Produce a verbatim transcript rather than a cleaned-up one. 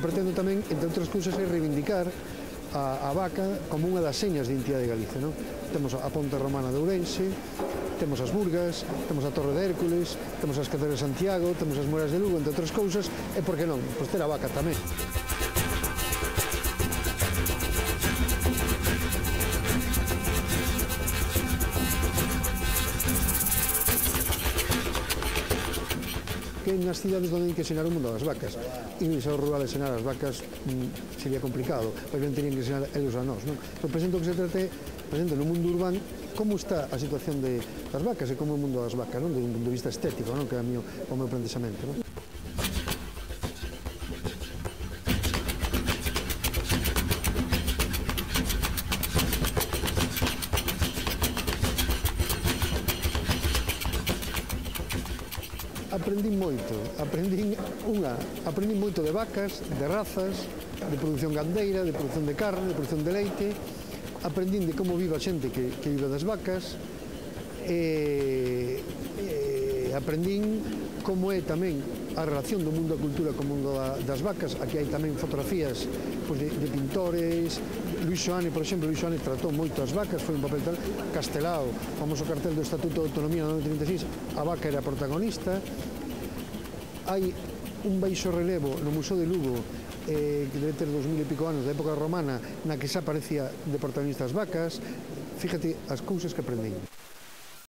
pretendo tamén, entre outras cousas, é reivindicar a, a vaca como unha das señas de identidade de Galicia, non? Temos a Ponte Romana de Ourense, temos as Burgas, temos a Torre de Hércules, temos as Catedrals de Santiago, temos as Murallas de Lugo, entre outras cousas, e por que non? Pois ter a vaca tamén. Que nas cidades onde hai que ensinar o mundo das vacas, e no liceo rural ensinar as vacas mm, sería complicado, pois ben terían que ensinar eles a nós, non? Pero presento que se trate, presento no mundo urbano, como está a situación de, das vacas e como é o mundo das vacas, non? Desde un punto de vista estético, non? Que é o meu, o meu planteamento, non? Aprendín moito, aprendín unha, aprendín moito de vacas, de razas, de produción gandeira, de produción de carne, de produción de leite, aprendín de como vive a xente que, que vive das vacas, e, e aprendín como é tamén a relación do mundo da cultura co mundo da, das vacas. Aquí hai tamén fotografías pois, de, de pintores. Luis Xoane, por exemplo, Luis Xoane tratou moito as vacas, foi un papel tal. Castelao, o famoso cartel do Estatuto de Autonomía no ano trinta e seis, a vaca era a protagonista. Hai un baixo relevo no Museo de Lugo, eh, que debe ter dos mil e pico anos, da época romana, na que xa aparecía de protagonistas vacas. Fíjate as cousas que aprendín.